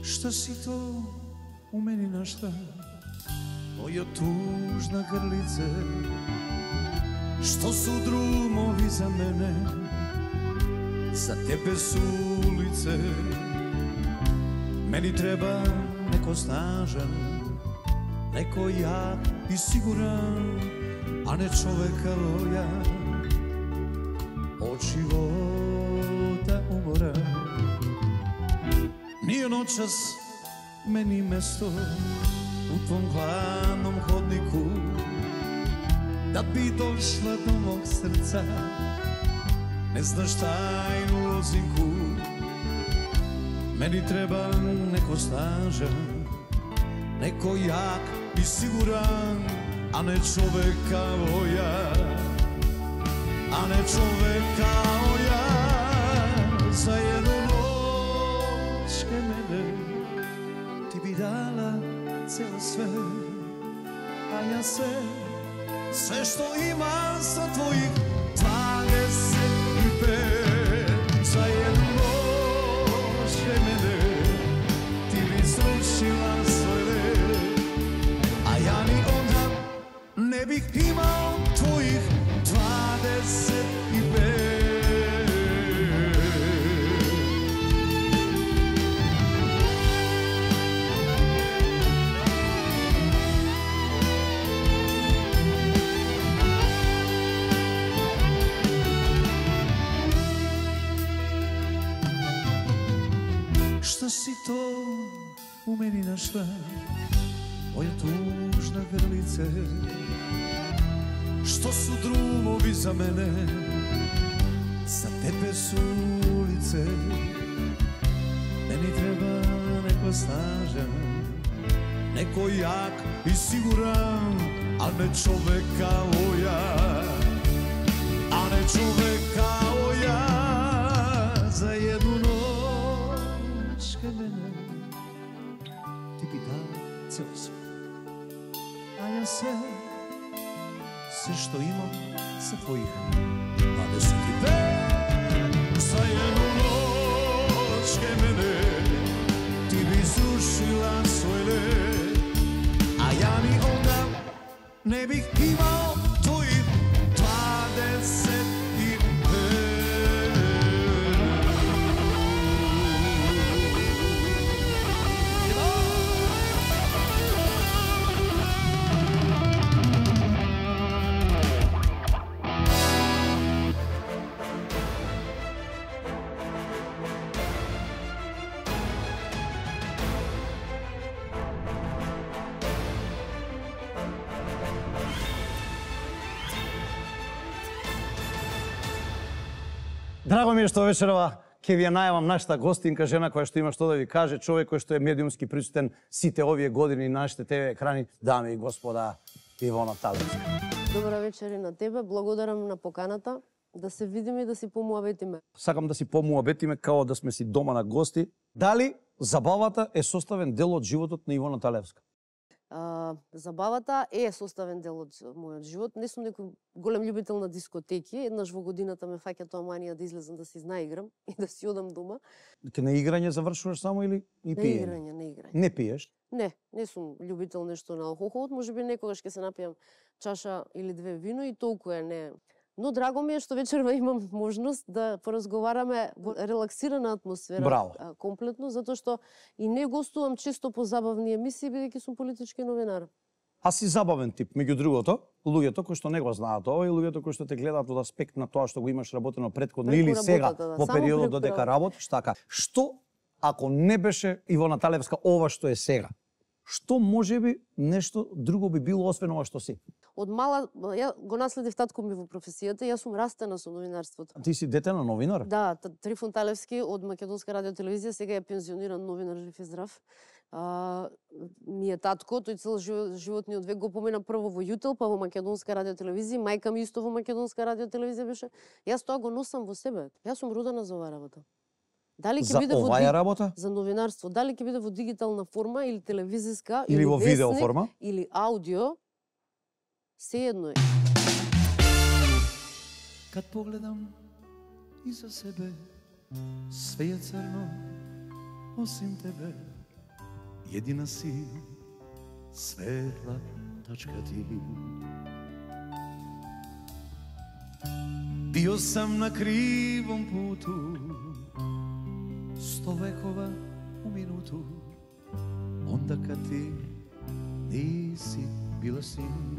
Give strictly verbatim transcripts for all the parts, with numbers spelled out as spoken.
Šta si to u meni našla, moja tužna grlice? Što su drumovi za mene, za tebe su ulice? Meni treba neko snažan, neko jak i siguran, a ne čovek kao ja, od života umoran. Nije noćas meni mesto u tvom hladnom hodniku, da bi došla do mog srca, ne znaš tajnu lozinku. Meni treba neko snažan, neko jak i siguran, a ne čovek kao ja, a ne čovek kao ja. Za jednu noć ke mene ti bi dala celo sve, a ja sve, sve što imam sa tvojih dvadeset i pet. Za jednu noć ke mene ti bi srušila sve, a ja ni onda ne bih imao tvojih dvadeset i pet. Šta si to u meni našla, moja tužna grlice? Što su drumovi za mene, za tebe su ulice? Meni treba neko snažan, neko jak i siguran, a ne čovek kao ja, a ne čovek kao ja. Za jednu noć ke mene ti bi dala celo sve, a ja sve, sve što imam sa tvojih dvadeset i pet. Za jednu noć ke mene ti bi srušila svoj led, a ja ni onda ne bih imao tvojih dvadeset i pet. Драго ми е што вечерова ќе ви ја најавам нашата гостинка, жена која што има што да ви каже, човек кој што е медиумски присутен сите овие години на нашите ТВ екрани, дами и господа, Ивона Талевска. Добра вечер и на тебе, благодарам на поканата, да се видиме и да си помуабетиме. Сакам да си помуабетиме као да сме си дома на гости. Дали забавата е составен дел од животот на Ивона Талевска? А, забавата е составен дел од мојот живот. Не сум некој голем љубител на дискотеки. Еднаш во годината ме фаќа тоа манија да излезам да си знаиграм и да си одам дома. Ке на играње завршуваш само или и пиење? Не играње, не играње. Не пиеш? Не, не сум љубител нешто на алкохол. Можеби некогаш ќе се напијам чаша или две вино и толку е, не. Но драго ми е што вечерва имам можност да поразговараме во релаксирана атмосфера. Браво. Комплетно, затоа што и не гостувам често по забавни емисии, бидејќи сум политички новинар. А си забавен тип, меѓу другото, луѓето кои што не го знаат ова и луѓето кои што те гледаат од аспект на тоа што го имаш работено претходно или сега да, во периодот додека работиш, така. Што ако не беше Ивона Талевска ова што е сега? Што можеби нешто друго би било освен ова што си? Од мала, ја го наследив татко ми во професијата, јас сум растена со новинарството. Ти си дете на новинар? Да, Трифон Талевски од Македонска радиотелевизија, сега е пензиониран новинар, жив и здрав. А, ми е татко, тој цел животниот век го помина прво во Јутел, па во Македонска радиотелевизија, мајка ми исто во Македонска радиотелевизија беше. Јас тоа го носам во себе. Јас сум родена за оваа работа. Дали ќе За биде во оваа работа? За новинарство, дали ќе биде во дигитална форма или телевизиска или, или во весник, видео форма или аудио, се едно е. Kad pogledam iza sebe, sve je crno osim tebe. Jedina si svetla tačka ti. Bio sam na krivom putu, sto vekova u minutu, onda kad ti nisi bila sin.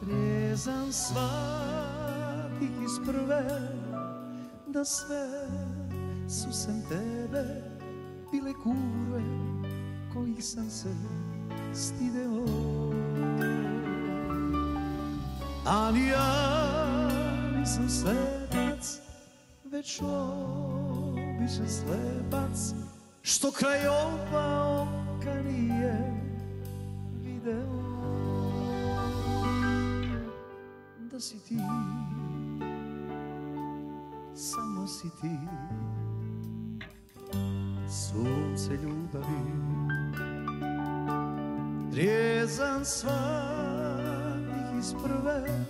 Rezan shvatih iz prve, da sve su sem tebe bile kurve kojih sam se stideo. Ali ja nisam svetac, već običan slepac, što kraj oba oka nije video. Da si ti, samo si ti, sunce ljubavi. Trijezan shvatih iz prve,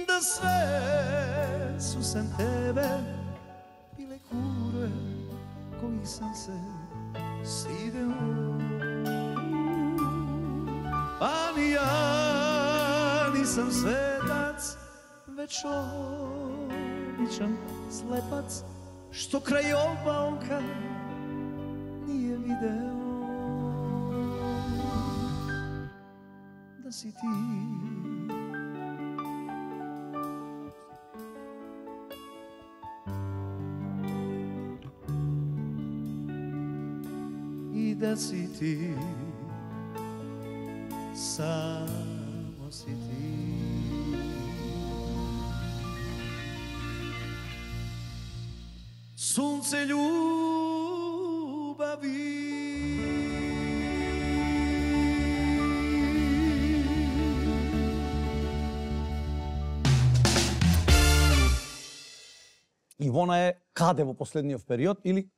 da sve su sem tebe bile kurve kojih sam se stideo. Pa ni ja nisam svetac, već običan slepac, što kraj oba oka nije video. Da si ti, i da si ti, samo si ti. Sunce ljubavi. Ивона е каде во последниот период или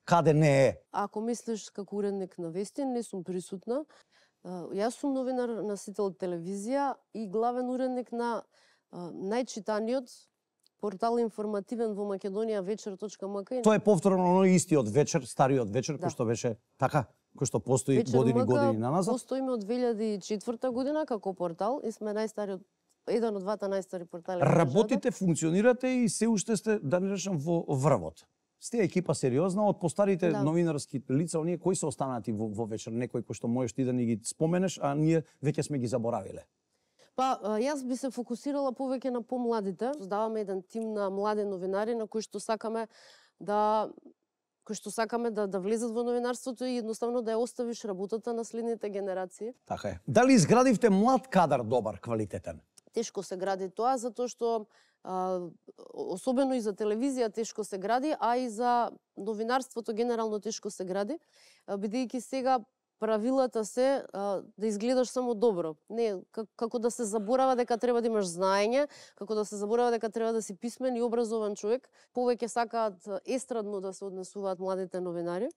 каде не е? Ако мислиш како уредник на вести, не сум присутна. Јас сум новинар, носител телевизија и главен уредник на најчитаниот портал информативен во Македонија вечер точка ем ка. Тоа е повторно оној истиот вечер, стариот вечер, да. Кој што беше така, кој што постои вечер години години наназад. Постоиме од две илјади и четврта година како портал и сме најстариот, еден од двата најстари портали. Работите, функционирате и се уште сте, да не речам, во врвот. Сте екипа сериозна, од постарите да. Новинарски лица, оние кои се останати во, во вечер, некои кои што можеш ти да ни ги споменеш, а ние веќе сме ги заборавиле. Па, јас би се фокусирала повеќе на помладите. Создаваме еден тим на млади новинари на кои што сакаме да кои што сакаме да да влезат во новинарството и едноставно да ја оставиш работата на следните генерации. Така е. Дали изградивте млад кадар добар, квалитетен? Тешко се гради тоа затоа што а, особено и за телевизија тешко се гради, а и за новинарството генерално тешко се гради, бидејќи сега правилата се а, да изгледаш само добро. Не, како да се заборава дека треба да имаш знаење, како да се заборава дека треба да си писмен и образован човек. Повеќе сакаат естрадно да се однесуваат младите новинари.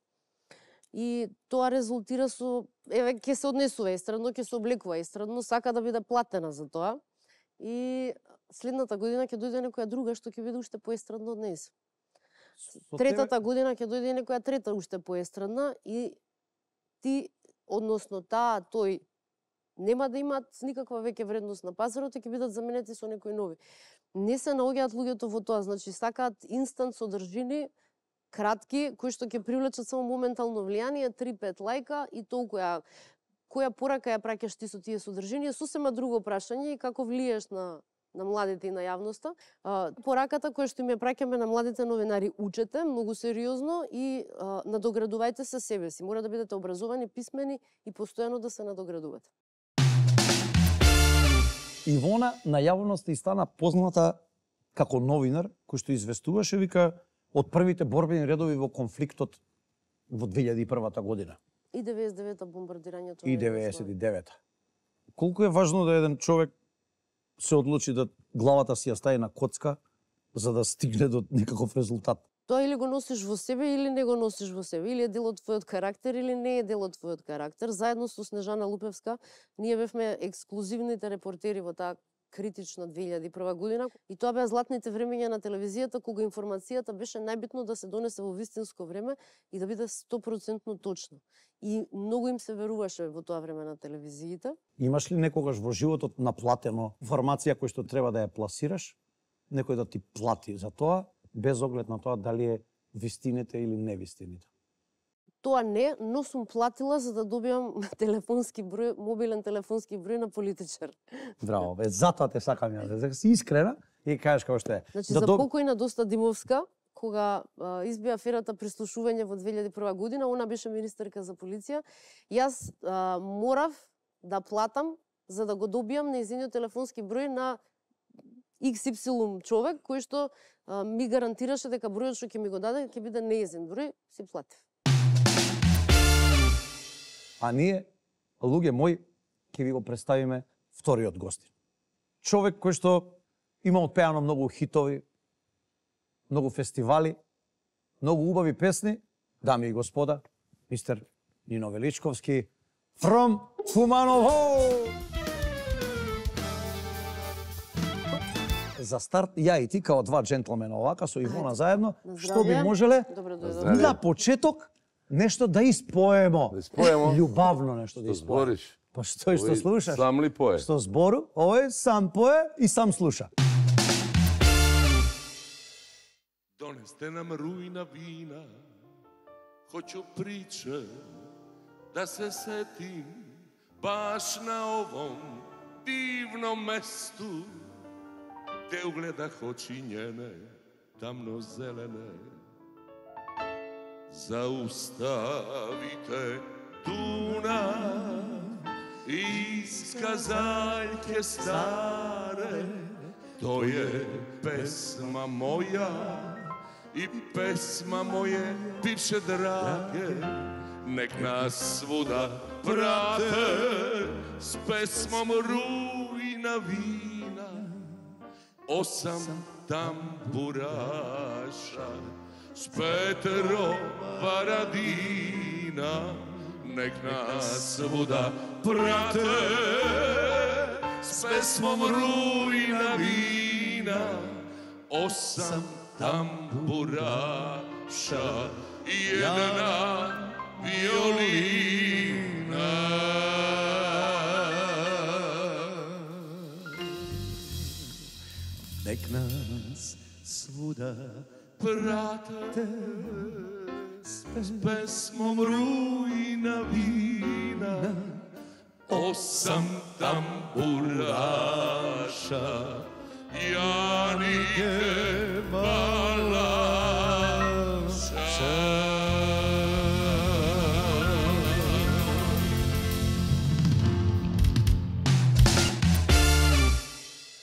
И тоа резултира со, еве, ќе се однесува естрадно, ќе се облекува естрадно, сака да биде платена за тоа. И следната година ќе дојде некоја друга што ќе биде уште поестрадна од нејз. Третата година ќе дојде некоја трета уште поестрадна и ти, односно таа, тој, нема да имаат никаква веќе вредност на пазарот и ќе бидат заменети со некои нови. Не се наоѓаат луѓето во тоа, значи сакаат инстант содржини, кратки, кои што ќе привлечат само моментално влијание, три-пет лајка и толку ја која порака ја праќаш ти со тие содржини, е сосема друго прашање и како влиеш на на младите и на јавноста. А, пораката која што им ја праќаме на младите новинари, учете многу сериозно и а, надоградувајте се себе си. Мора да бидете образовани, писмени и постојано да се надоградувате. Ивона на јавноста и стана позната како новинар кој што известуваше, вика, од првите борбени редови во конфликтот во две илјади и прва година. И деветдесет и девета бомбардирањето. И деветдесет и девета. Колку е важно да еден човек се одлучи да главата си ја стави на коцка за да стигне до некаков резултат? Тоа или го носиш во себе или не го носиш во себе, или е дел од твојот карактер или не е дел од твојот карактер. Заедно со Снежана Лупевска ние бевме ексклузивните репортери во таа критична две илјади и прва година и тоа беа златните времења на телевизијата кога информацијата беше најбитно да се донесе во вистинско време и да биде сто проценти точно. И многу им се веруваше во тоа време на телевизиите. Имаш ли некогаш во животот наплатено информација која што треба да ја пласираш, некој да ти плати за тоа, без оглед на тоа дали е вистините или невистините? Тоа не, но сум платила за да добиам телефонски број, мобилен телефонски број на политичар. Браво, бе, затоа те сакам ја, дека си искрена и кажеш како што е. Значи, да за доб... покојна Доста Димовска, кога а, избија аферата прислушување во две илјади и прва година, она беше министерка за полиција, јас а, морав да платам за да го добијам нејзиниот телефонски број на икс ипсилон човек, кој што а, ми гарантираше дека бројот што ќе ми го даде ќе биде нејзин број, си платив. А ние, луѓе мои, ќе ви го представиме вториот гостин. Човек кој што има отпеано многу хитови, многу фестивали, многу убави песни, дами и господа, мистер Нино Величковски, from Куманово! За старт, ја и ти, као два джентлмена овака, со Ивона заедно, што би можеле на почеток нешто да испоемо. Да испоемо? Љубавно нешто да Што испоемо. збориш? Па што и што Овој слушаш? Сам ли пое? Што збору, овој сам пое и сам слуша. Донесте нам рујна вина, хоќу приче да се сетим баш на овом дивном месту, те угледах очи njene тамно-зелене. Zaustavite Dunav iz kazaljke stare, to je pesma moja i pesma moje bivše drage, nek nas svuda prate s pesmom rujna vina, osam tamburaša s Petro Paradina, nek nas svuda prate s pesmom rujna vina, osam tamburaša i jedna violina. Nek nas svuda prate s pesmom rujna vina, osam tamburaša, Janike Balaša.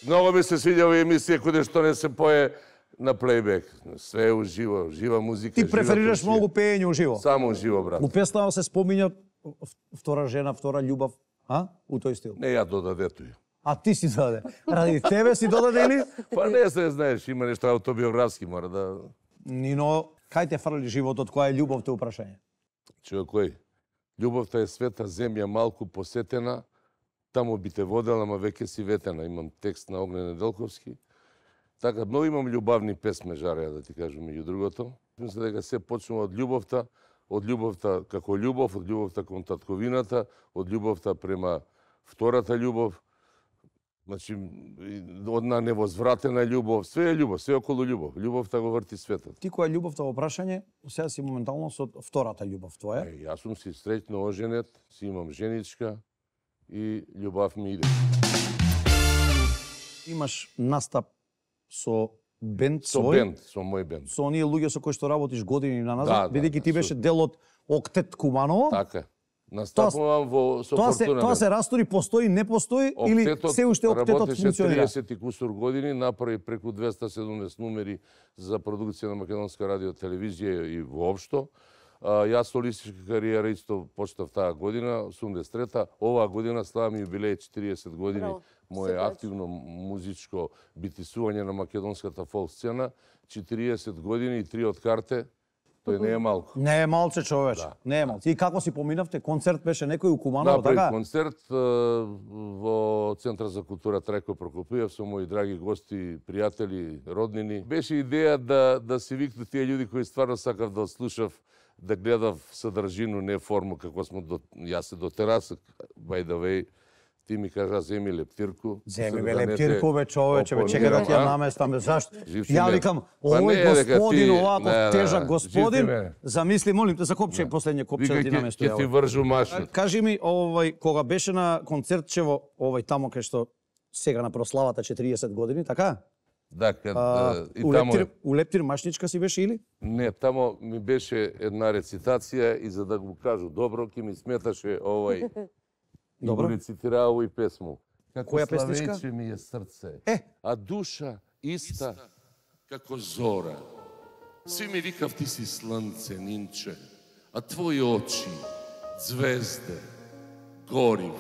Mnogo mi se sviđa ove emisije kod što ne se poje na playback. Sve je uživo, živa muzika. Ти преферираш многу пеење уживо? Само уживо, брат. У песнава се спомиња втора жена, втора љубав, а? У тој стил. Не ја додадето ја. А ти си даде. Ради тебе си додаде или? Па не се знаеш, има нешто автобиографски, мора да... Нино, кај те фрли животот, која е љубовта упрашање? Човек кој? Љубовта е света земја малку посетена, таму би те водела, ама веќе си ветена. Имам текст на Огнен Неделковски. Така, многу имам љубавни песме, жареја да ти кажам, меѓу другото. Мислам дека се почнува од љубовта, од љубовта како љубов, од љубовта кон татковината, од љубовта према втората љубов, значи, одна невозвратена љубов, све е љубов, све околу љубов. Љубовта го врти светот. Ти која е љубовта во прашање, сега си моментално со втората љубов твоја. Е, јас сум си среќно оженет, си имам женичка и љубав ми иде. Имаш настап со бенд Со свој, бенд, со мој бенд. со оние луѓе со кои што работиш години на Да, назад, да, бидејќи да, ти со- беше дел од Октет Куманово. Така. Настапувам во со Тоа се Фортуна. тоа се растори, постои, не постои или Октетот се уште октетот работеше функционира? триесет и кусур години, направи преку двеста и седумдесет numери за продукција на Македонска радио телевизија и воопшто. А, јас солистичка кариера исто почнав таа година, осумдесет и трета. Оваа година славам јубилеј четириесет години. Браво. Мое Сепач. активно музичко битисување на македонската фолк сцена. четириесет години и три од карте. Тој не е малку. Не е малце, човече. Да. Не е малце. И како си поминавте? Концерт беше некој у Куманово, Направи така? концерт е, во Центар за култура Трајко Прокопиев со мои драги гости, пријатели, роднини. Беше идеја да да се викнат тие луѓе кои стварно сакав да слушав, да гледав содржину, не форму како смо до јас се до тераса, by the way. Ти ми кажа земи лептирку. Земи бе лептирку, бе, човече, бе, чека да ти ја наместам, бе, зашто? Живти Ја ме. викам, Па овој не, дека господин, ти- овако не, не, тежак не, господин, живти ме. замисли, молим те, за копче, последње копче да ти Вика, ќе наместува. ќе ти вржу машин. Кажи ми, овој, кога беше на концертчево, овој тамо кај што сега на прославата четириесет години, така? Да, кад, А, и у тамо Лептир, е- у Лептир Машничка си беше или? Не, тамо ми беше една рецитација и за да го кажу добро, ќе ми сметаше овој и Добро. го рецитираа овој песму. Како Која песничка? славејче ми е срце, Е. а душа иста како зора. Сви ми викав ти си слънце, нинче, а твои очи, звезде, горив.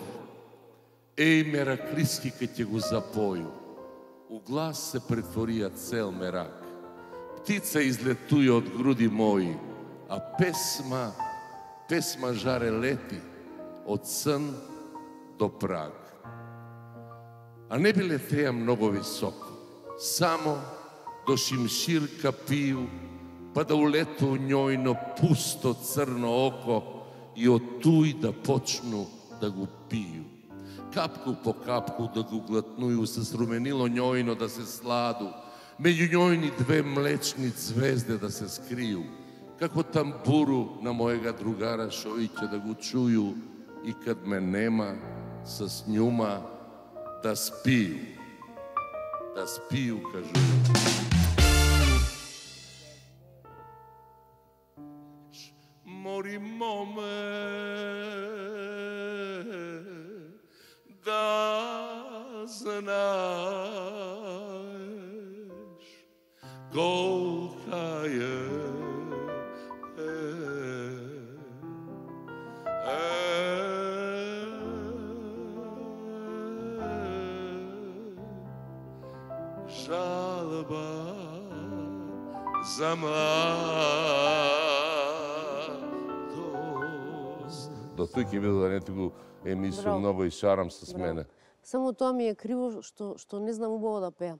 Еј, мераклиски ке ќе го запоју, у глас се претворија цел мерак. Птица излетуја од груди мои, а песма, песма жаре лети од сон до праг. А не би летеја многу високо, само до шимширка пију, па да улету у њојно пусто црно око и од туј да почну да го пију. Капку по капку да го глатнују, се сруменило њојно да се сладу, меѓу њојни две млечни звезде да се скрију, како тамбуру на мојега другара шојќе да го чују и кад ме нема, с њума да спију. Да спију, кажу. Мори моме, да знаеш колка е, е, е, жалба за младост. До тој ќе биде да не ти го емисију Браво. многу и шарам с мене. Само тоа ми е криво што што не знам убаво да пеам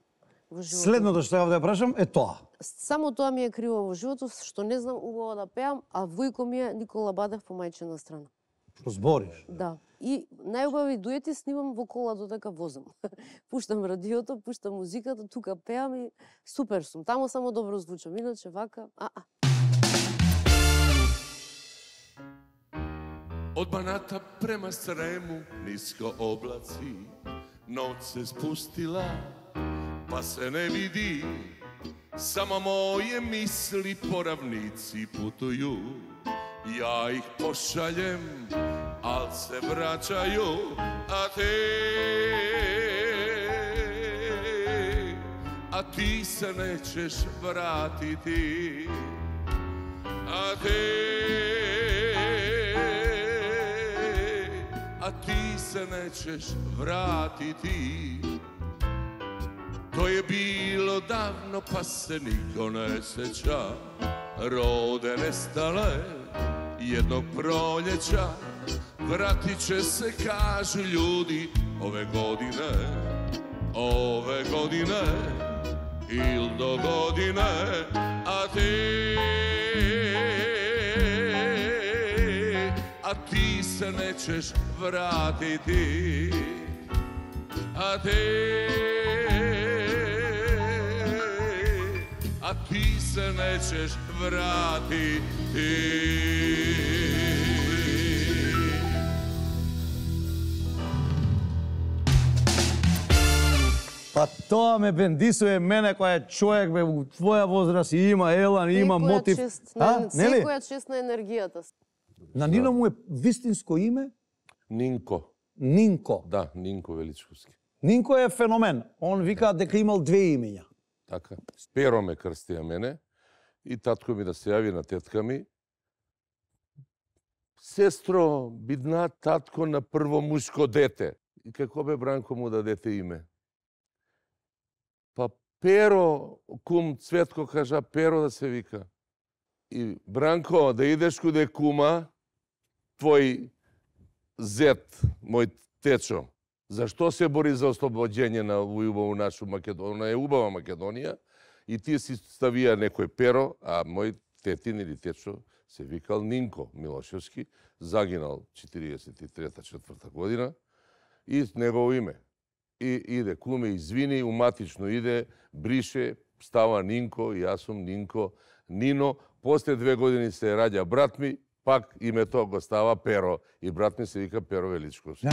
во животот. Следното што ја да ја прашам е тоа. Само тоа ми е криво во животот што не знам убаво да пеам, а војко ми е Никола Бадев по мајчина страна. Што збориш? Да. И најубави дуети снимам во кола додека возам. Пуштам радиото, пуштам музиката, тука пеам и супер сум. Таму само добро звучам, иначе вака, а-а. Од Баната према Срему, ниско облаци, ноќ се спустила, па се не види, само моје мисли по равници путују. Ја их пошалjem, ал се враќају, а те, а ти се нечеш вратити, а те, а ти се нечеш вратити. Тоа е било давно, па се нико не сеќа. Роде нестале едnog proljeća, vratit će se, kažu ljudi, ove godine, ove godine, il do godine, a ti, a ti se nećeš vratiti, a ti, a ti se nećeš vratiti. Па тоа ме бендисува мене кој е човек бе у твоја возраст и има елан, и има Секоја мотив. чест на, нели? секоја чест на енергијата. На Нино му е вистинско име Нинко. Нинко. Да, Нинко Величковски. Нинко е феномен. Он вика дека имал две имења. Така. Перо ме крстија мене и татко ми да се јави на тетка ми. Сестро, бидна татко на прво мушко дете. И како бе Бранко му дадете име? Па Перо, кум Цветко кажа Перо да се вика. И Бранко, да идеш куде кума, твој зет, мој течо, зашто се бори за ослобоđenje на убаву нашу Македонија, е убава Македонија, и ти си ставија некој перо, а мој тетин или течо се викал Нинко Милошевски, загинал четириесет и трета четврта година, и негово име. И иде куме, извини, уматично иде, брише, става Нинко, и јас сум Нинко, Нино. После две години се раѓа брат ми, пак името го става Перо, и брат ми се вика Перо Величковски.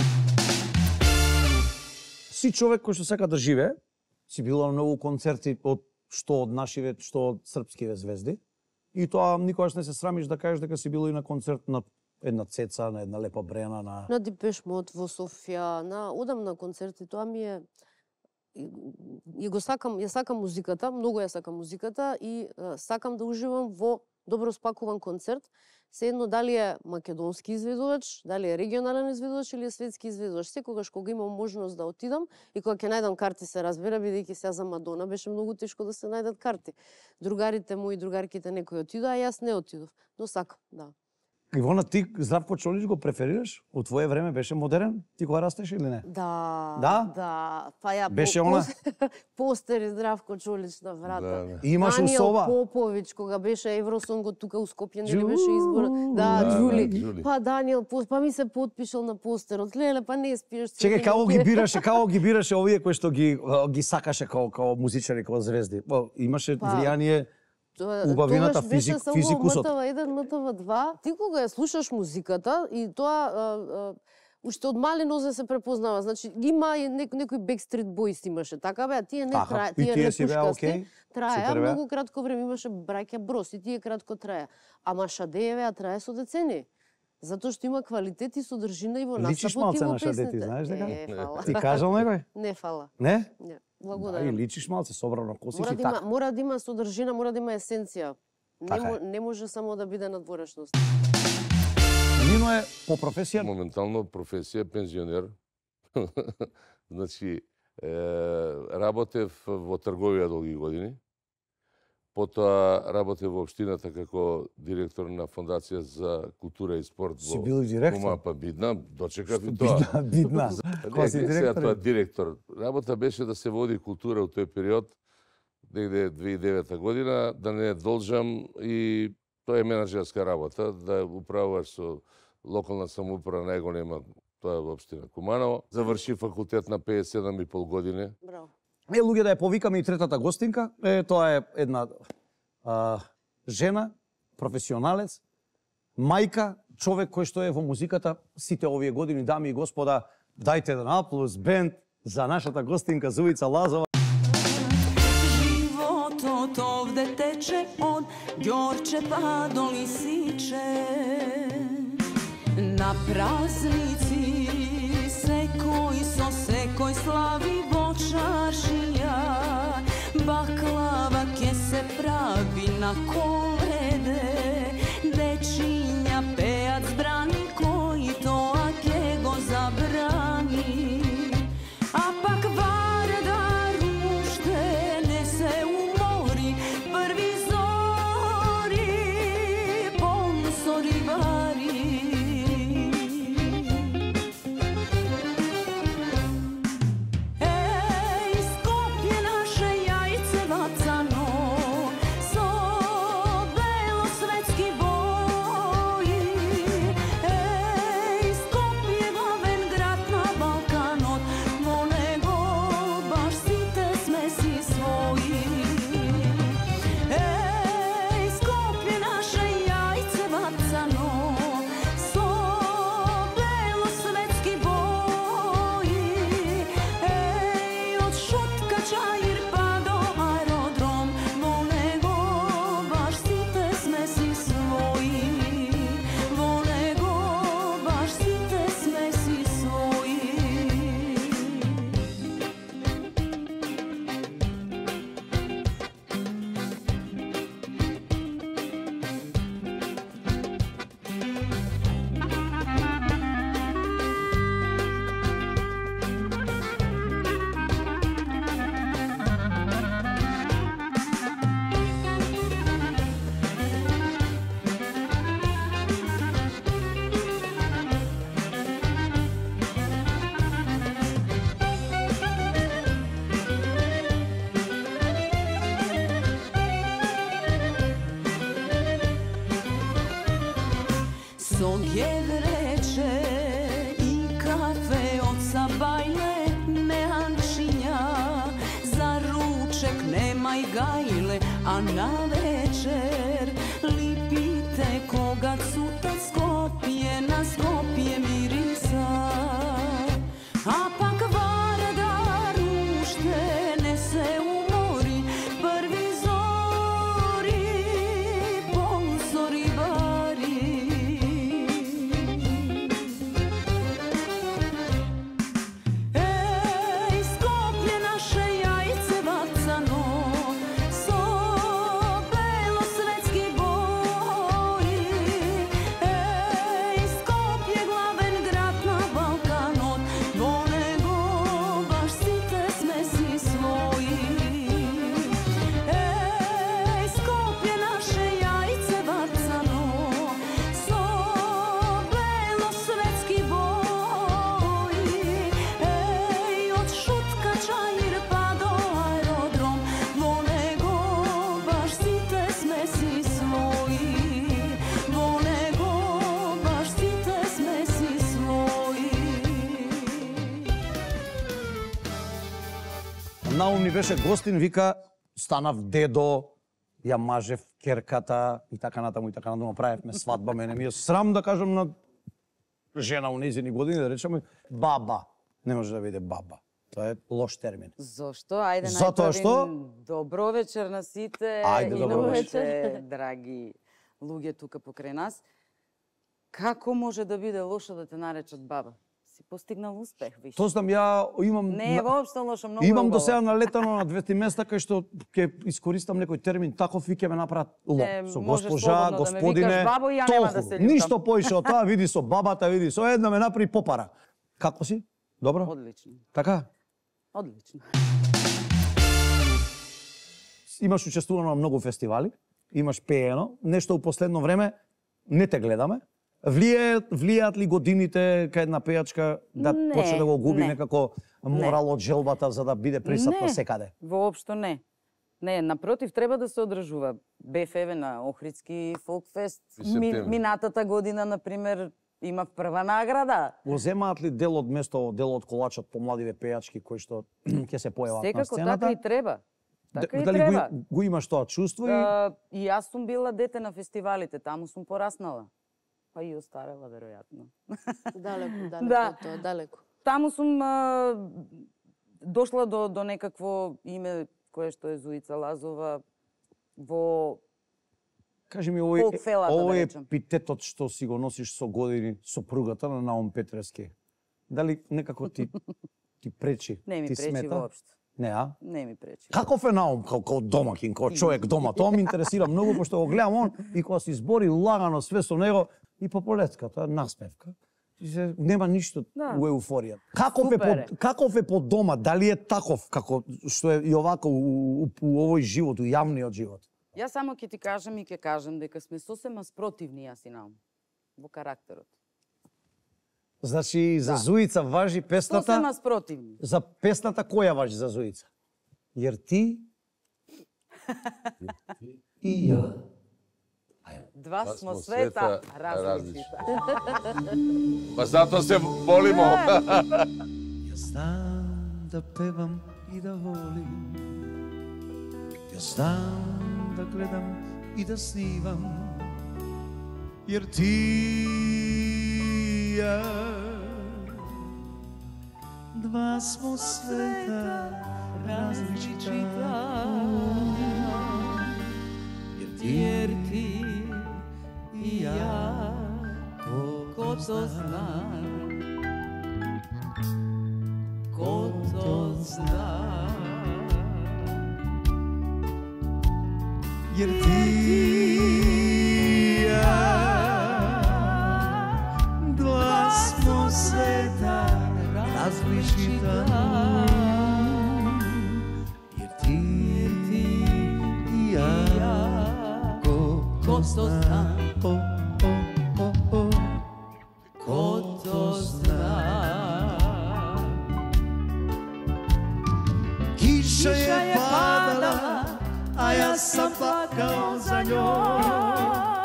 Си човек кој што сака да живее, си бил на многу концерти од што од нашиве, што од српскиве звезди. И тоа никогаш не се срамиш да кажеш дека си бил и на концерт на една Цеца, на една Лепа Брена, на На Депеш Мод во Софија, на одам на концерти, тоа ми е и го сакам, ја сакам музиката, многу ја сакам музиката и е, сакам да уживам во добро спакуван концерт. Се едно дали е македонски изведувач, дали е регионален изведувач или е светски изведувач. Секогаш кога имам можност да отидам и кога ќе најдам карти, се разбира, бидејќи сега за Мадона беше многу тешко да се најдат карти. Другарите мои, другарките некои отидоа, а јас не отидов, но сакам, да. Ивона, ти Здравко Чолич го преферираш? Од твое време беше модерен? Ти кога растеш или не? Да, Да? да. Па ја Беше по, она? постери Здравко Чолич на врата. Да, да. И имаш Даниел усова? Поповиќ, кога беше Евросонгот тука у Скопје, нели Џу- беше избор. Да, Да, Џули. да, Џули. Па Даниел, па ми се потпишал на постерот. Леле, па не спиеш. Чекај, како ги бираше, како ги бираше овие кои што ги ги сакаше како како музичари, како звезди. О, имаше Па, влијание убавината, Тогаш беше физик, само физикусот. М Т В еден, М Т В два. Ти кога ја слушаш музиката и тоа а, а, уште од мали нозе се препознава. Значи има и нек, некој Backstreet Boys имаше, така бе, а тие не Така, трае, и тие тие не си беа пушкасти. окей, Траја супер беа. многу кратко време, имаше браќа Брос и тие кратко траја. Ама Шадееве ја трае со децени. Затоа што има квалитет и содржина и во настапот Личиш и малце во на Шаде, ти песните. знаеш дека? Е, фала. Ти кажал некој? Не фала. Не? Не. Да, и Благодарам. личиш малце собрано косиш Мора и да има, така. мора да има содржина, мора да има есенција. Не, Така е. мо, не може само да биде надворешност. Нино е по професија Моментално професија пензионер. Значи, е, работев во трговија долги години. Потоа работев во општината како директор на Фондација за култура и спорт. си во бил и директор. Кума, па бидна, дочекав и тоа. Бидна, бидна. Кој Не, си не, сега тоа директор? директор. Работа беше да се води култура во тој период, негде две илјади и девета година, да не должам, и тоа е менаџерска работа, да управуваш со локална самоуправа најголема, тоа е во општина Куманово. Заврши факултет на педесет и седам и пол години. Браво. Е, луѓе, да ја повикаме и третата гостинка. Е, тоа е една а, жена, професионалец, мајка, човек кој што е во музиката сите овие години, дами и господа, дајте еден аплауз, бенд за нашата гостинка Зуица Лазова. Život ovde teče od Đorđe pa do Lisiće. Na praznici sekoj so sekoj slavi vočaršija. Baklava ke se pravi na kolede. Dečinja pejac brani koji to ake go zabrani. A pak Varda rušte ne se umori, prvi zori, pomsori vari. Ej, Skopje naše jajce vacano, so belosvetski bor. со геврече и кафе од Сабајле меанчиња, за ручек немај гајле, а на вечер липите кога цута Скопје, на Скопје мириса. А пак Вардар уште не се умори, први зори, ползори бари. Еј, Скопје наше јајце бацано, со белосветски бои. Еј, Скопје главен град на Балканот, во него баш сите сме си своји. Еј, Скопје наше јајце бацано, со белосветски бои. Еј, од Шутка Чаир па до аеродром, во него баш сите сме си своји. Во него баш сите сме си своји. Наум ни беше гостин, вика, станав дедо, ја мажев керката и така натаму и така натаму, правевме свадба, мене ми е срам да кажам на жена у незини години, да речеме баба. Не може да биде баба. Тоа е лош термин. Зошто? Ајде Затоа најпрви што? добро вечер на сите Ајде, и добро на вечер. вашите драги луѓе тука покрај нас. Како може да биде лошо да те наречат баба? Си постигнал успех, виш. Тоа знам, ја имам... Не е на- воопшто лошо, многу е Имам до убаво. сега налетано на двете места кај што ќе искористам некој термин таков и ќе ме направат лоп. Не, Со можеш госпожа, слободно да ме господине, викаш бабо и ја нема да толку. седим Ништо таму. поише од тоа, види со бабата, види со една ме направи попара. Како си? Добро? Одлично, Така? одлично. Имаш учествувано на многу фестивали, имаш пеено, нешто у последно време не те гледаме. Влијаат, влијаат ли годините кај една пејачка да Не, почне да го губи не. некако морал од желбата за да биде присатна Не. секаде? Воопшто не. Не, напротив, треба да се одржува. Бев еве на Охридски фолкфест. И Ми, септември. минатата година, например, има прва награда. Го земаат ли дел од место, дел од колачот по младиве пејачки кои што ќе се појават на Секако сцената? така и треба. Така и Дали треба. го, го имаш тоа чувство и А, и јас сум била дете на фестивалите, таму сум пораснала. Па и остарела, веројатно. Далеко, далеко Да. од тоа, далеко. Таму сум а, дошла до, до некакво име кое што е Зуица Лазова во... кажи ми овој Фолкфелата, да овој речем. епитетот што си го носиш со години, сопругата на Наум Петревски. Дали некако ти ти пречи? Не ми ти пречи смета? воопшто. Не, а? Не ми пречи. Каков е Наум како, како домакин, како човек дома? Тоа ме интересира многу, пошто го гледам он и кога се избори лагано све со него и по полеската, насмевка. И се, нема ништо Да. у еуфорија. Каков е, Супер е. по, каков е по дома? Дали е таков како што е и овако у, у, у овој живот, у јавниот живот? Јас само ќе ти кажам и ќе кажам дека сме сосема спротивни јас и Наум во карактерот. Значи, за Да. Зуица важи песната... Сосема спротивни. За песната која важи за Зуица? Јер ти и ја. Два Па смо смо света света различни. Па затоа се волимо. Јас знам да певам и да волим. Јас знам да гледам и да снимам. Јер ти и ја два смо света различита. Јер ти Јер ти и ја ко то зна, ко то зна. Јер ти и ја два смо света различита. Јер ти и ја ко Ко то зна, о, о, о, о, ко то зна. Киша е падала, а јас сам плакал за њој.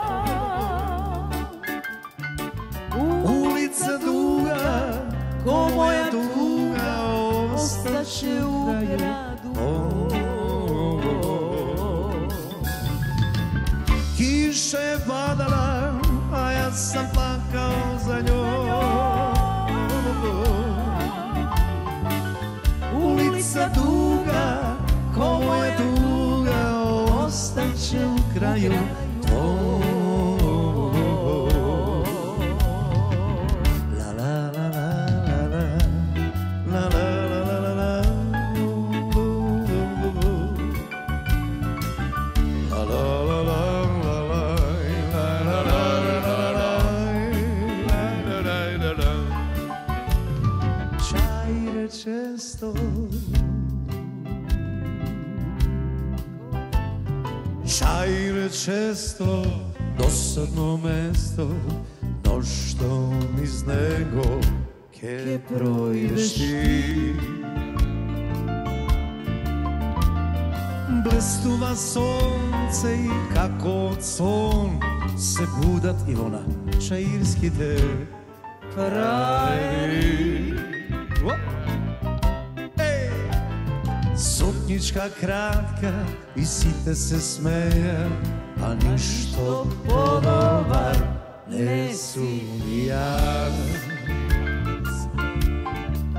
kiše padala, a ja sam plakao za njom. Ulica duga, ko je duga, ostaće u kraju tvoj. La la la la la la la la la la često Čajre često dosadno mesto no što niz nego ke projdeš ti Blestuva sonce i kako od son se budat Ivona Čairski te pravi Suknjička kratka i site se smeja, a ništo podobar ne su ni ja.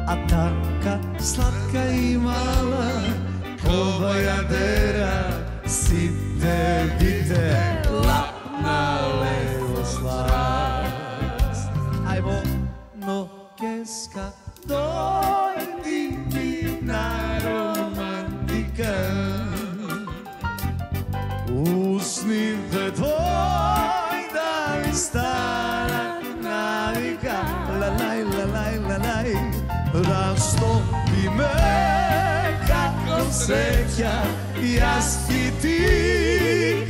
A taka slatka i mala, ko bajadera, site dite, lapna levo slast. Ajmo, no keska, dojdi mi na romantika. Usnite tvoj da mi stara navika. La laj, la laj, la laj, rastopi me kako sreća, jaz i ti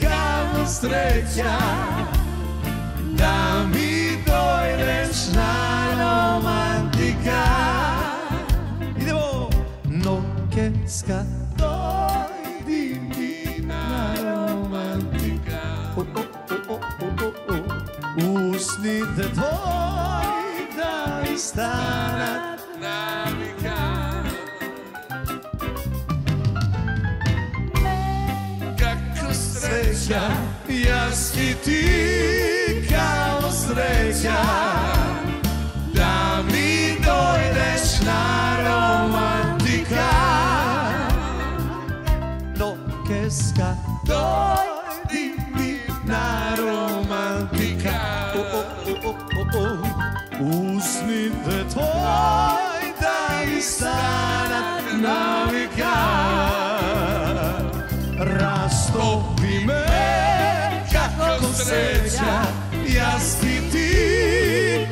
kako sreća, da mi dojdeš na romantika. Idemo! No keska, dojdi mi na romantika. Oh, oh, oh, oh, oh, oh. Usnite tvoj da mi stanat navika. Kako sreća, jaz i ti kao sreća, da mi dojdeš na romantika. No keska, dojdi mi na romantika. Oh, oh, oh, oh, oh. Usnite tvoj da mi stanat navika. Rastopi me kako sreća, jaz i ti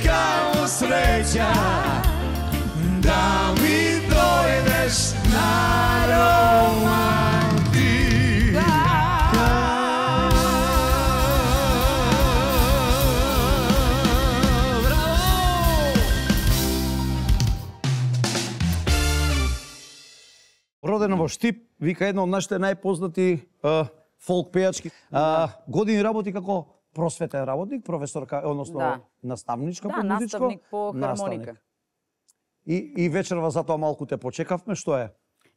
kao sreća, da mi dojdeš na romantika. Родена во Штип, вика една од нашите најпознати а, фолк пејачки. А, години работи како просветен работник, професорка, односно Да. наставничка Да, по музичко. наставник по наставник. хармоника. И, и вечерва затоа малку те почекавме, што е?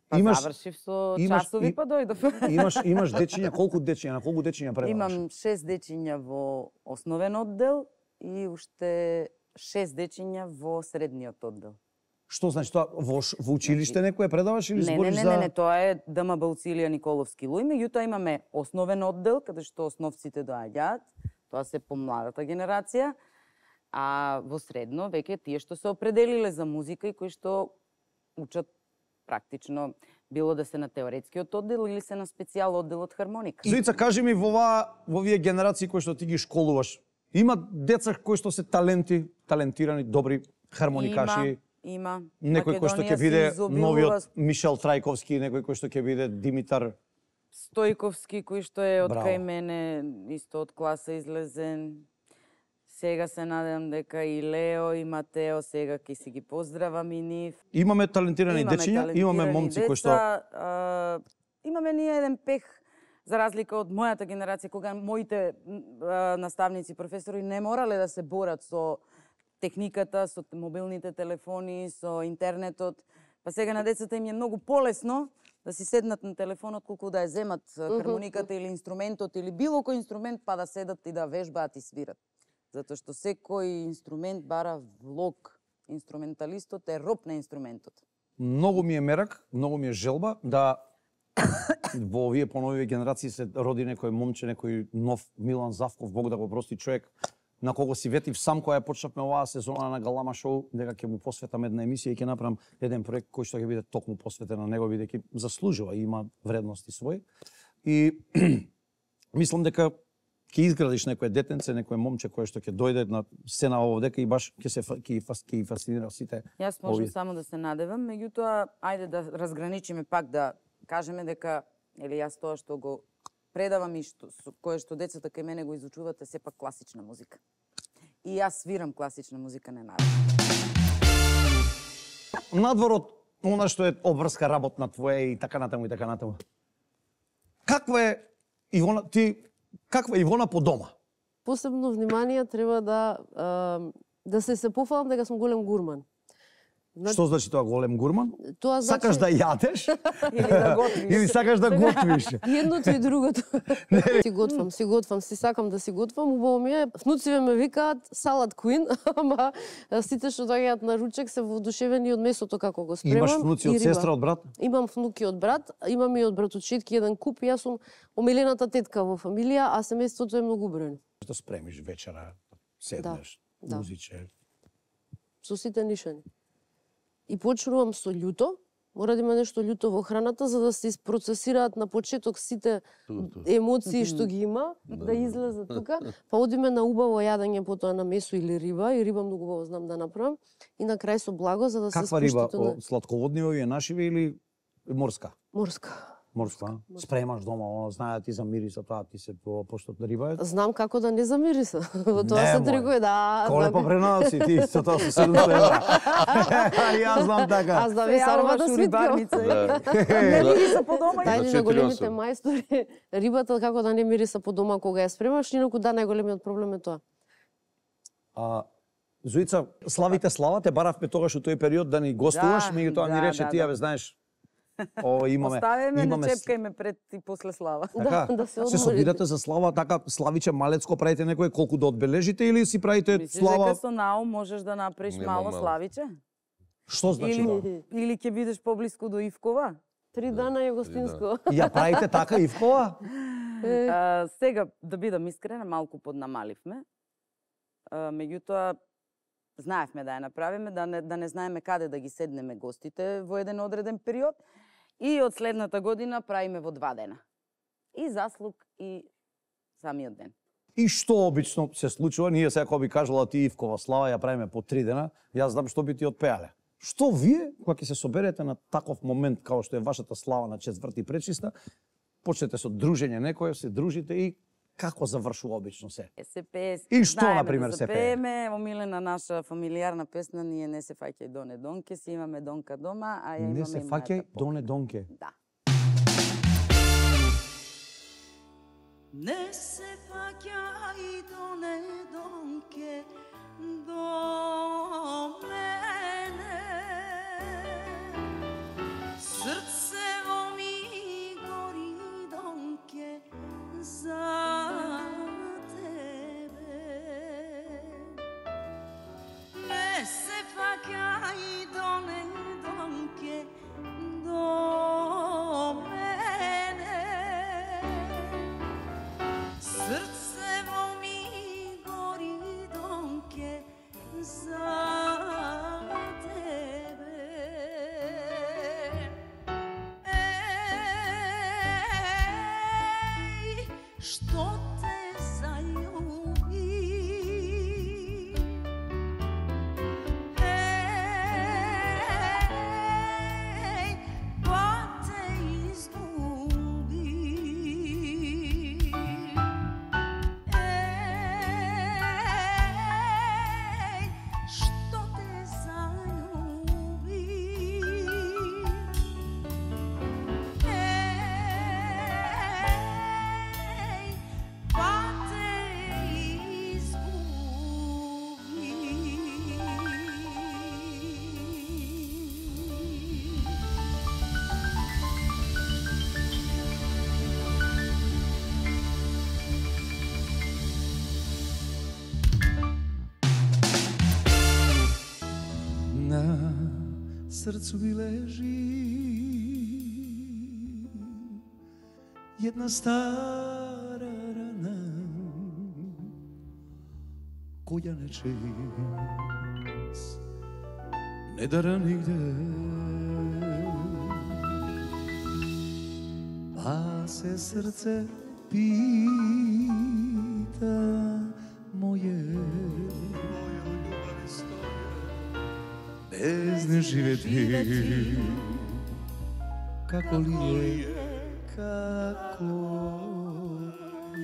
Па завршив со имаш- часови, и- па дојдов. Имаш имаш дечиња, колку дечиња, на колку дечиња предаваш? Имам шест дечиња во основен оддел и уште шест дечиња во средниот оддел. Што значи тоа во, ш- во училиште некој предаваш или Не, не, збориш не, за не, не, тоа е ДМБ Уцилија Николовски Луј, меѓутоа имаме основен оддел каде што основците доаѓаат, тоа се помладата генерација, а во средно веќе тие што се определиле за музика и кои што учат практично било да се на теоретскиот оддел или се на специјал оддел од хармоника. Зоица, кажи ми во оваа во овие генерации кои што ти ги школуваш, има деца кои што се таленти, талентирани, добри хармоникаши? Има, има. Некој кој што ќе Македонија биде се изобилува новиот Мишел Трајковски, некој кој што ќе биде Димитар. Стојковски, кој што е од Браво. кај мене, исто од класа излезен. Сега се надевам дека и Лео и Матео сега ќе си ги поздравам и нив. Имаме талентирани дечиња, имаме талентирани момци кои што деца, а, имаме ние еден пех за разлика од мојата генерација кога моите а, наставници, професори не морале да се борат со техниката, со мобилните телефони, со интернетот. Па сега на децата им е многу полесно да си седнат на телефонот, колку да ја земат хармониката или инструментот или било кој инструмент, па да седат и да вежбаат и свират. Затоа што секој инструмент бара влог. Инструменталистот е роб на инструментот. Многу ми е мерак, многу ми е желба да во овие поновиве генерации се роди некој момче, некој нов Милан Завков, Бог да го прости, човек на кого си ветив сам кога ја почнавме оваа сезона на Галама шоу, дека ќе му посветам една емисија и ќе направам еден проект кој што ќе биде токму посветен на него, бидејќи заслужува и има вредности свој. И мислам дека ќе изградиш некое детенце, некое момче кое што ќе дојде на сцена овдека и баш ќе се ќе ќе фасцинира сите. Јас можам само да се надевам, меѓутоа ајде да разграничиме пак, да кажеме дека или јас тоа што го предавам и што кое што децата кај мене го изучуваат е сепак класична музика. И јас свирам класична музика, не народна. Надвор од она што е обврска работна твоја и така натаму и така натаму. Каква е Ивона ти каква е Ивона по дома? Посебно внимание треба да да се се пофалам дека сум голем гурман. Што значи тоа голем гурман? Тоа значи... Сакаш да јадеш? Или да готвиш. Или сакаш да готвиш? Едното и другото. Си готвам, си готвам, си сакам да си готвам. Убаво ми е. Внуциве ме викаат салат куин, ама сите што доаѓаат на ручек се воодушевени од месото како го спремам. Имаш внуци од сестра, од брат? Имам внуки од брат, имам и од братовчетки еден куп. Јас сум омилената тетка во фамилија, а семејството е многу бројно. Што спремиш вечера, седнеш, да, музиче. Со сите нишани. И почнувам со љуто, мора да има нешто љуто во храната за да се isprocesираат на почеток сите емоции што ги има, да излезат тука, па одиме на убаво јадење, потоа на месо или риба, и риба многу убаво знам да направам, и на крај со благо за да се спуштите. Каква риба? На... Сладководни овие нашиве или морска? Морска. Морска, спремаш дома, оно знае ти за мириса, тоа ти се пошто на риба. Знам како да не замириса. Во тоа се тргува, да. Коле па пренаци ти, со тоа со седумстотини евра. Јас знам така. Аз да ви сарва да рибарница. Не мириса по дома. Тајни на големите мајстори, рибата како да не мириса по дома кога ја спремаш, инаку да, најголемиот проблем е тоа. А Зуица, славите слава, те баравме тогаш во тој период да ни гостуваш, меѓутоа ми рече ти, бе, знаеш, О, имаме, Оставеме, имаме... не чепкајме пред и после слава. Така, да, да се, се собирате за слава, така Славиче Малецко правите некој колку да одбележите или си правите Мислиш слава? дека со наум можеш да направиш Нема мало мало. Славиче? Што значи тоа? Или, или ќе бидеш поблиску до Ивкова? Три дана е гостинско. Ја правите така Ивкова? А, сега, да бидам искрена, малку поднамаливме. А, меѓутоа, знаевме да ја направиме, да не, да не знаеме каде да ги седнеме гостите во еден одреден период. И од следната година правиме во два дена. И заслуг, и самиот ден. И што обично се случува? Ние сега кога би кажала ти Ивкова слава, ја правиме по три дена, јас знам што би ти отпеале. Што вие, кога ќе се соберете на таков момент, као што е вашата слава на четврти пречиста, почнете со дружење некој, се дружите и како завршува обично се? Се пее. И што, например, да се пее? пееме, омилена наша фамилијарна песна, ние не се фаќај доне донке, си имаме донка дома, а ја имаме Не се фаќај доне донке. Да. Не се фаќај доне донке до мене, срцево ми гори донке за тебе. Не се фаќај доне донке до мене, срце срцу ми лежи една стара рана, која не чест не дара нигде, па се срце пита моје, без не живети, како ли е, како е.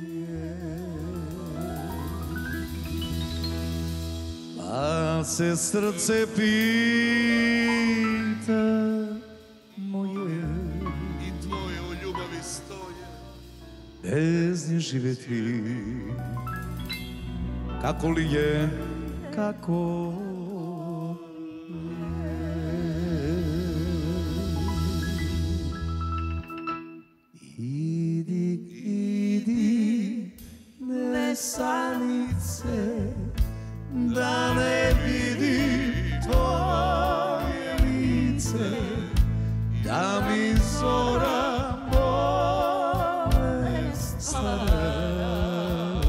Па се срце пита моје, и твоје у љубави стоја, без не живети, како ли е, како санице, да не види твоje лице, да ми зора болест стара.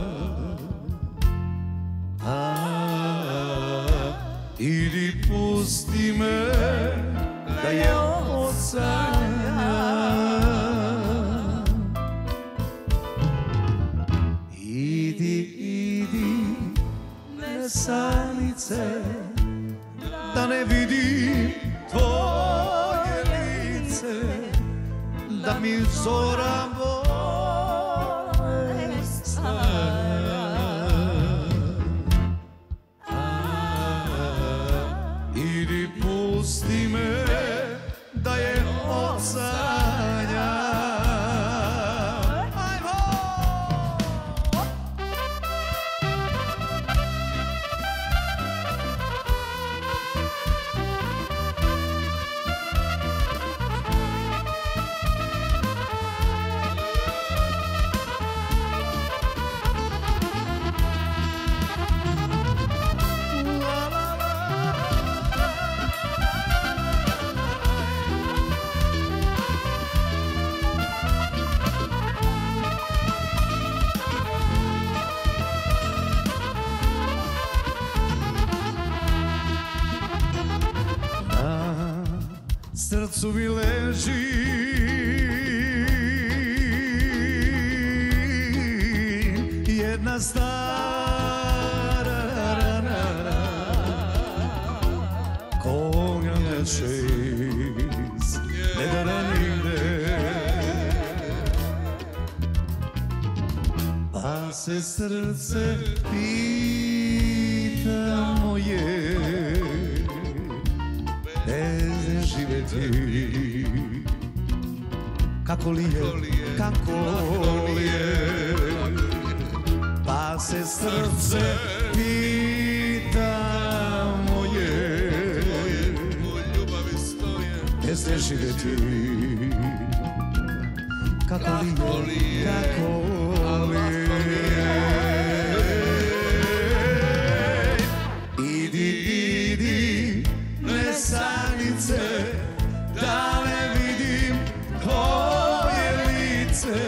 А, иди пусти ме да ја осањам. Санице, да не види твоje лице, да ми зора болест стара. Иди пусти ме да ја осањам. Срцу ми лежи една стара рана, која не чест не дара нигде, па се срце пита моје, без живети, како ли е, како ли е, па се срце пита моје, у љубави стоја, без не живети, како ли е, како ли е. Иди, иди, несанице, да не видим твоje лице,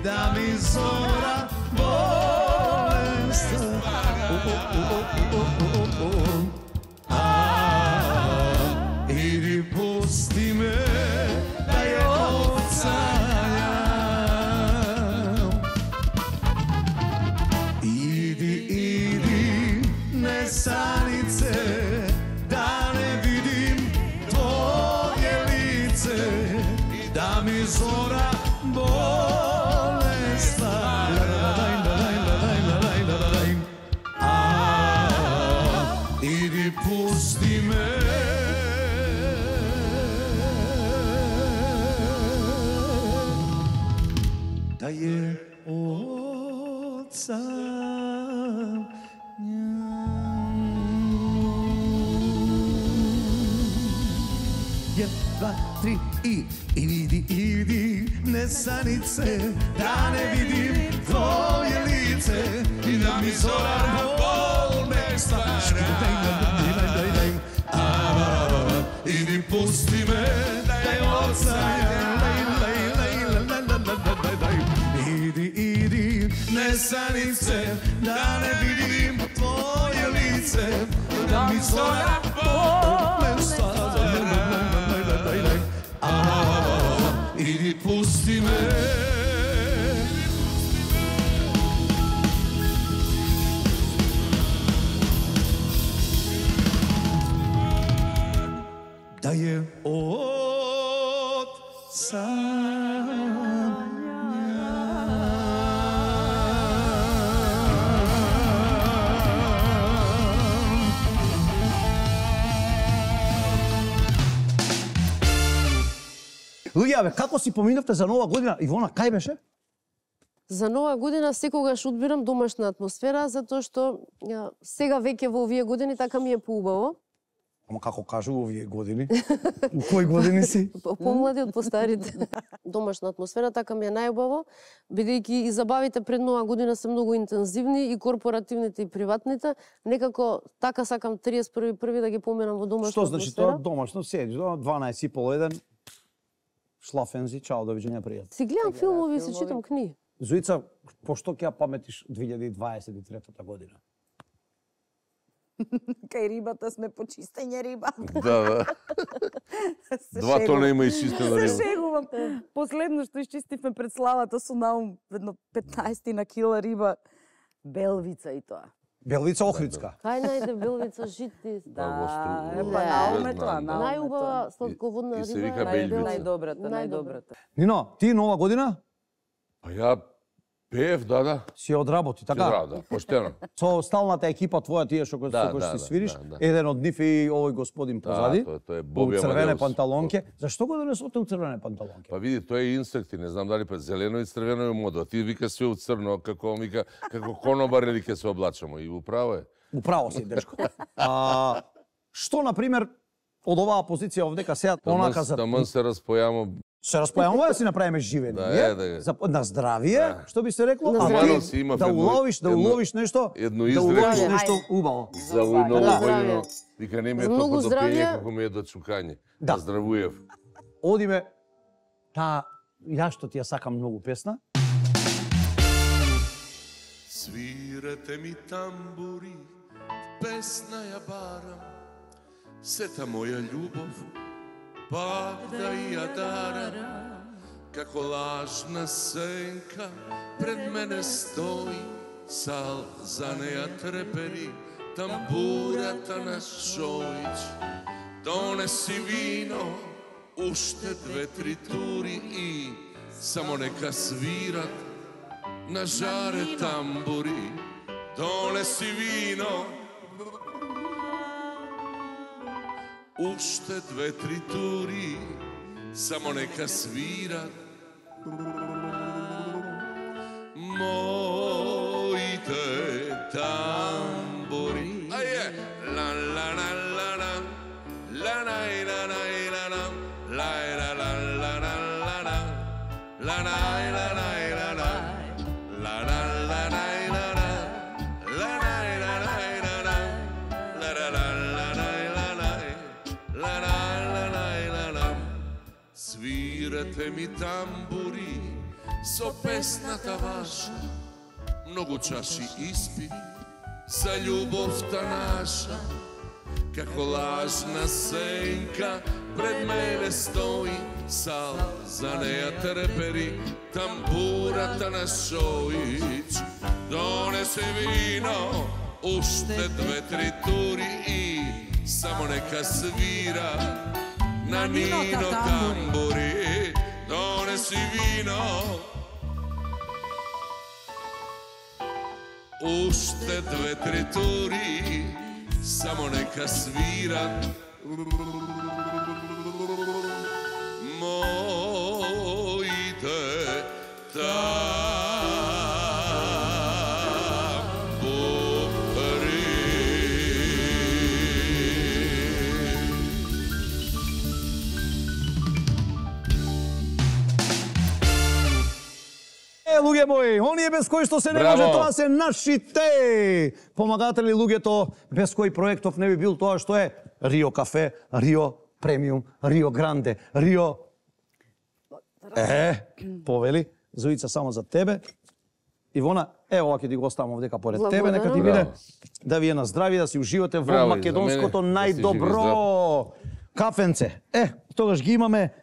да ми зора болест стара. Иди пусти ме да ја осањам. Иди, иди, несанице, да не видим твоje лице, да ми зора болест стара. Иди пусти ме да ја осањам. Два, три и иди, иди, несанице, да не видим твоje лице и да ми зора болест стара. Иди nesanice, da ne vidim tvoje lice, da mi zora pone staza. Idi pusti me. Da je od Луѓе, бе, како си поминавте за Нова година? Ивона, кај беше? За Нова година секогаш одбирам домашна атмосфера, затоа што ја, сега веќе во овие години така ми е поубаво. Ама како кажу овие години? У кои години си? Помлади од постарите. Домашна атмосфера така ми е најубаво, бидејќи и забавите пред Нова година се многу интензивни, и корпоративните и приватните. Некако така сакам триесет и први први да ги поминам во домашна Што атмосфера. значи тоа домашно седиш до дванаесет и пол еден? Шлафензи, чао, довиѓење, пријатно. Си гледам филмови и си читам книги. Зоица, пошто ќе ја паметиш две илјади дваесет и трета година? Кај рибата сме почистење риба. Да, да. Два тона има изчистена Се риба. шегувам. Последно што изчистивме пред славата со Наум, едно петнаесет на кила риба, белвица и тоа. Белвица Охридска. Кај најде белвица жити? Да, во Стру- е, во- па не Наум е знам, тоа, да. Наум е тоа. Најубава сладководна И се риба. вика е Белвица. белвица. Најдобрата, Најдобра. најдобрата. Нино, ти Нова година Па ја пеев, да, да. си одработи, Да, така? да, поштено. Со сталната екипа твоја, тие што Да, со кои да, си да, свириш, да, да. еден од нив е и овој господин Да, позади, тоа тоа е у Боби црвене Амадеус. панталонке. Зашто го донесоте у црвене панталонке? Па види, тоа е инсекти, не знам дали па зелено и црвено е мода. Ти вика све у црно, како вика, како конобар или ќе се облачамо. И управо е. Управо си, дечко. А, што, например, од оваа позиција овдека сега, онака за... Таман се распојамо. Се распојаваме да си направиме живе Да, ние, е, да е. за, на здравие, што би се рекло, На а здравие. ти Си имав да едно- уловиш, да едно- уловиш нешто, едно да уловиш изрекло. нешто убаво. За овој ново Да, годино, здравје. вика не ми е За многу толку до здравје. пење, како ми е до чукање. Да. Здравуев. Одиме, таа, ја што ти ја сакам многу песна, Свирете ми тамбури, песна ја барам, сета моја љубов, пак да ја дарам, како лажна сенка пред мене стои, сал за неја трепери, тамбурата на Шојич. Донеси вино, уште две-три тури и само нека свират на жаре тамбури. Донеси вино, уште две-три тури, само нека свират моите тамбури. Аје, ла ла ла ла ла, ла ла ла ла ла ла, ла ла ла ла ла ла ла, ла ла ла ла ла ла, ла ла ла ла ла ла, ла ла ла ла ла ла, ла ла ла ла ла ла, ла ла ла ла ла. Свирате ми тамбури со песната ваша, многу чаши испи за љубовта наша, како лажна сенка пред мене стои, сал за неја трепери, тамбурата на Шојич. Донесе вино, уште две-три тури и само нека свира на Нино тамбури. Донеси вино, уште две-три тури, само нека свират моите тамбури. Е, луѓе мои, оние без кои што се не Браво! може, тоа се нашите помагатели, луѓето без кои проектов не би бил тоа што е Рио кафе, Рио премиум, Рио гранде, Рио... Е, повели, Зоица, само за тебе. Ивона, ево ова ќе ти го оставам овдека поред тебе, нека ти биде да ви е на здрави, да си уживате во Браво, македонското за мене, да си најдобро кафенце. Е, тогаш ги имаме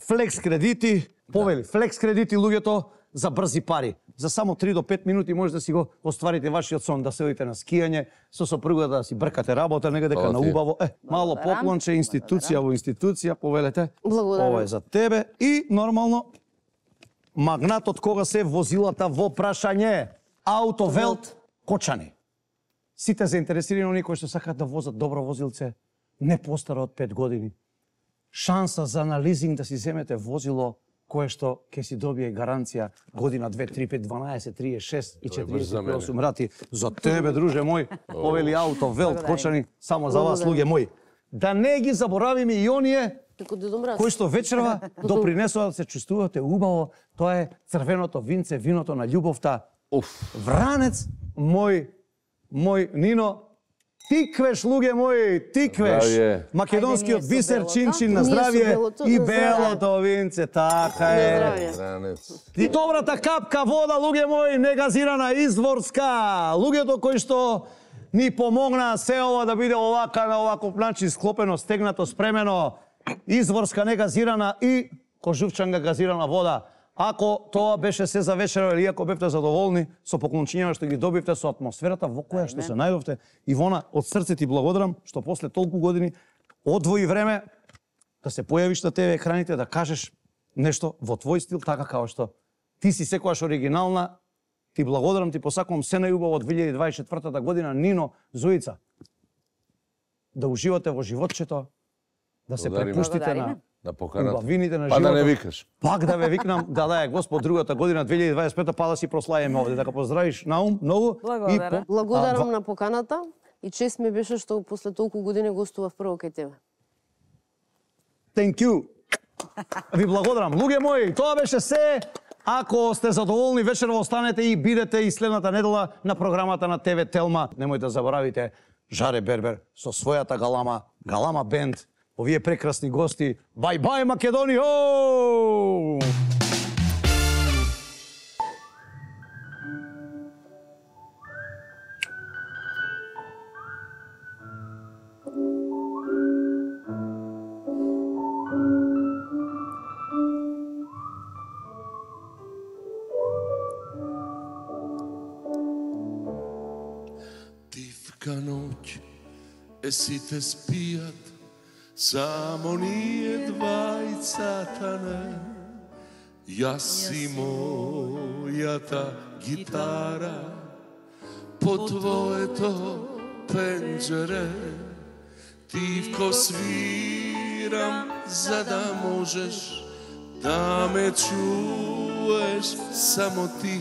флекс кредити, повели, флекс кредити луѓето за брзи пари. За само три до пет минути може да си го остварите вашиот сон, да се одите на скијање, со сопругата да си бркате работа, нега дека на убаво. Е, мало поклонче, институција во институција, повелете. Благодарам. Ова е за тебе и нормално магнатот кога се возилата во прашање. Аутовелт Кочани. Сите заинтересирани оние кои што сакаат да возат добро возилце, не постаро од пет години. Шанса за на лизинг да си земете возило кое што ќе си добие гаранција година две, три, пет, дванаесет, триесет и шест и четириесет и осум рати. За тебе, друже мој, повели Аутовелт Кочани, само за вас, луѓе мои. Да не ги заборавиме и оние кои што вечерва допринесува да се чувствувате убаво, тоа е црвеното винце, виното на љубовта. Вранец, мој, мој Нино, тиквеш, луѓе мои, тиквеш. Македонскиот бисер, чинчин на здравје и белото винце, така е. И добрата капка вода, луѓе мои, негазирана, изворска. Луѓето кои што ни помогна се ова да биде овака на оваков начин склопено, стегнато, спремено, изворска негазирана и кожувчанга газирана вода. Ако тоа беше се за вечера или ако бевте задоволни со поклончињата што ги добивте, со атмосферата во која што се најдовте, Ивона, од срце ти благодарам што после толку години одвои време да се појавиш на тебе екраните, да кажеш нешто во твој стил, така како што ти си секогаш оригинална. Ти благодарам, ти посакувам се најубаво од две илјади дваесет и четвртата година, Нино, Зоица. Да уживате во животчето, да се препуштите на на поканата. Убавините на па животот. Да не викаш. Пак да ве викнам, да да е Господ другата година две илјади дваесет и пета, па да си прославиме овде, да ка поздравиш Наум многу. Благодарам. И по... Благодарам а, на поканата и чест ми беше што после толку години гостував прво кај тебе. Thank you. Ви благодарам. Луѓе мои, тоа беше се. Ако сте задоволни, вечерва останете и бидете и следната недела на програмата на ТВ Телма. Немојте да заборавите Жаре Бербер со својата галама, Галама бенд. Овие прекрасни гости. Бај бај Македонија! Тивка ноќ е сите спијат, само ние двајцата не. Јас и мојата гитара по твоето пенџере. Тивко свирам за да можеш да ме чуеш само ти.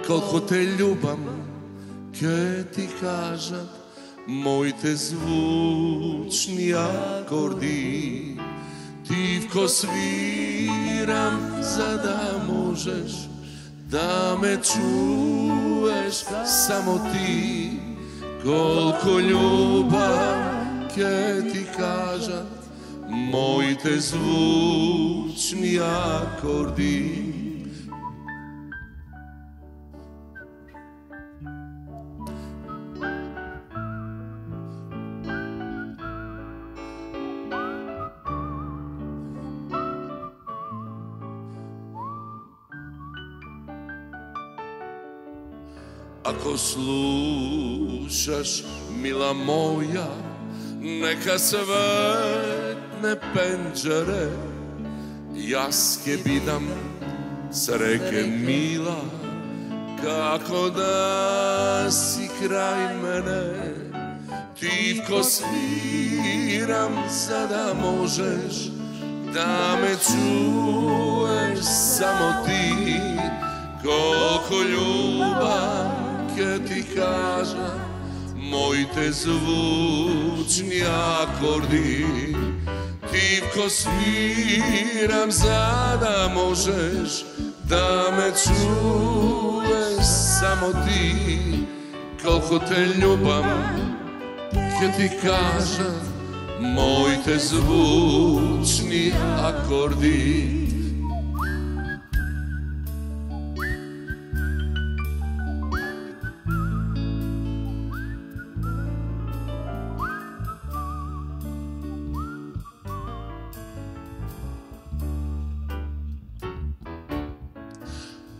Колко те љубам, ке ти кажат моите звучни акорди. Тивко свирам за да можеш да ме чуеш само ти. Колко љубам ке ти кажат моите звучни акорди. Ако слушаш, мила моја, нека светне пенџере. Јас ке бидам среќе мила, како да си крај мене. Тивко свирам за да можеш да ме чуеш само ти. Колко љубам ке ти кажа моите звучни акорди. Тивко свирам за да можеш да ме чуеш само ти. Колко те љубам ке ти кажа моите звучни акорди.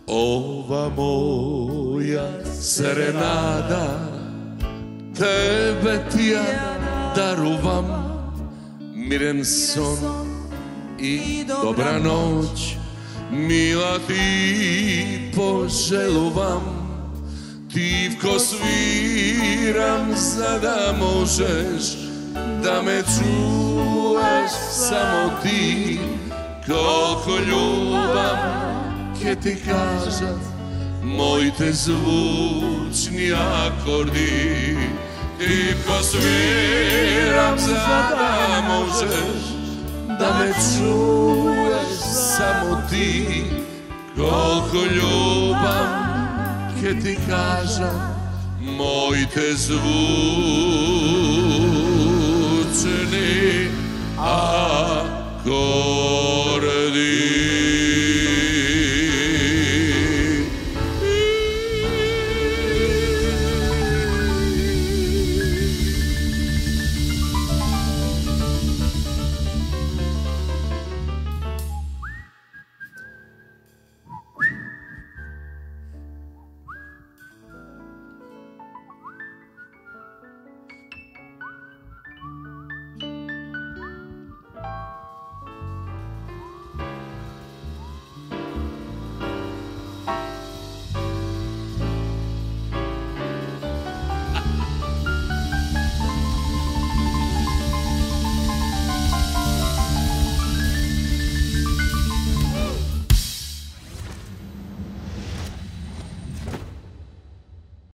Ова моја серенада тебе ти ја дарувам, мирен сон и добра ноќ, мила ти пожелувам, тивко свирам за да можеш да ме чуваш само ти, колку љубам ке ти кажат моите звучни акорди, тивко свирам за да можеш да ме чуваш само ти, колку љубам ке ти кажат моите звучни акорди.